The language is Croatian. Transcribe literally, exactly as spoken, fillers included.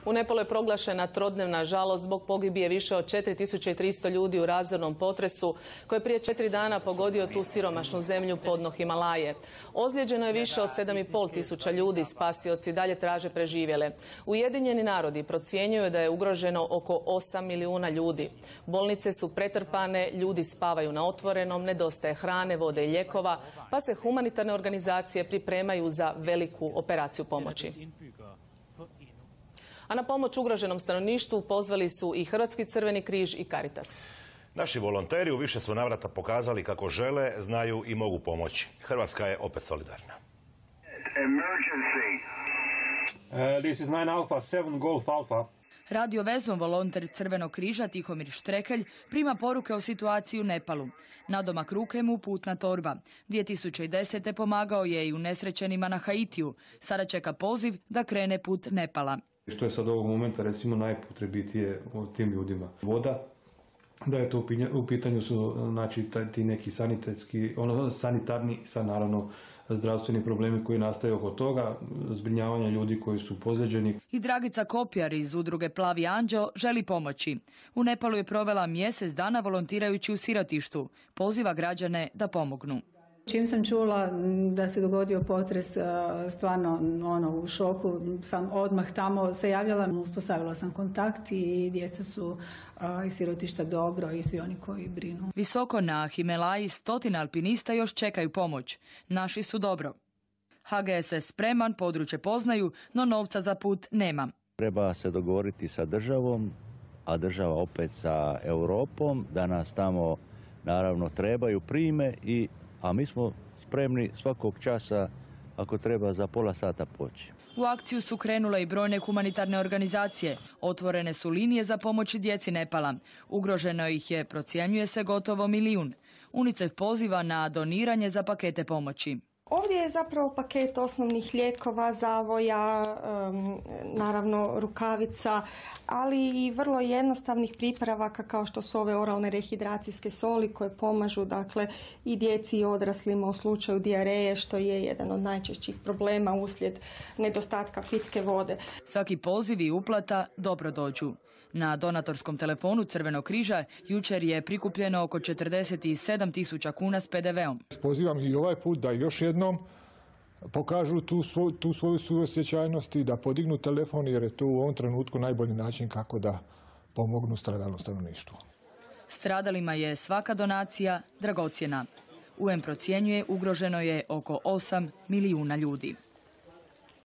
U Nepalu je proglašena trodnevna žalost zbog pogibije više od četiri tisuće tristo ljudi u razornom potresu koji je prije četiri dana pogodio tu siromašnu zemlju podno Himalaje. Ozlijeđeno je više od sedam i pol tisuća ljudi, spasioci dalje traže preživjele. Ujedinjeni narodi procjenjuju da je ugroženo oko osam milijuna ljudi. Bolnice su pretrpane, ljudi spavaju na otvorenom, nedostaje hrane, vode i lijekova, pa se humanitarne organizacije pripremaju za veliku operaciju pomoći. A na pomoć ugroženom stanovništvu pozvali su i Hrvatski crveni križ i Caritas. Naši volonteri u više su navrata pokazali kako žele, znaju i mogu pomoći. Hrvatska je opet solidarna. Uh, this is nine Alpha, seven Golf Alpha. Radio vezom volonter Crvenog križa Tihomir Štrekelj prima poruke o situaciji u Nepalu. Nadomak ruke mu putna torba. dvije tisuće desete. pomagao je i unesrećenima na Haitiju. Sada čeka poziv da krene put Nepala. Što je sad ovog momenta recimo najpotrebitije tim ljudima? Voda, da je to u pitanju su znači ti neki sanitetski, ono sanitarni, sad naravno zdravstveni problemi koji nastaju oko toga, zbrinjavanje ljudi koji su pozlijeđeni. I Dragica Kopjar iz udruge Plavi anđeo želi pomoći. U Nepalu je provela mjesec dana volontirajući u sirotištu. Poziva građane da pomognu. Čim sam čula da se dogodio potres, stvarno ono, u šoku sam odmah tamo se javljala, uspostavila sam kontakt i djeca su iz sirotišta dobro i svi oni koji brinu. Visoko na Himalaji stotina alpinista još čekaju pomoć. Naši su dobro. H G S S spreman, područje poznaju, no novca za put nema. Treba se dogovoriti sa državom, a država opet sa Europom, da nas tamo naravno trebaju prime i a mi smo spremni svakog časa, ako treba, za pola sata poći. U akciju su krenule i brojne humanitarne organizacije. Otvorene su linije za pomoć djeci Nepala. Ugroženo ih je, procjenjuje se, gotovo milijun. UNICEF poziva na doniranje za pakete pomoći. Ovdje je zapravo paket osnovnih lijekova, zavoja, um, naravno rukavica, ali i vrlo jednostavnih pripravaka kao što su ove oralne rehidracijske soli koje pomažu dakle, i djeci i odraslima u slučaju dijareje, što je jedan od najčešćih problema uslijed nedostatka pitke vode. Svaki poziv i uplata dobro dođu. Na donatorskom telefonu Crvenog križa jučer je prikupljeno oko četrdeset sedam tisuća kuna s P D V-om. Pozivam i ovaj put da još jednom pokažu tu, svo, tu svoju suosjećajnost i da podignu telefon, jer je to u ovom trenutku najbolji način kako da pomognu stradalnom stanovništvu. Stradalima je svaka donacija dragocjena. U N procjenjuje ugroženo je oko osam milijuna ljudi.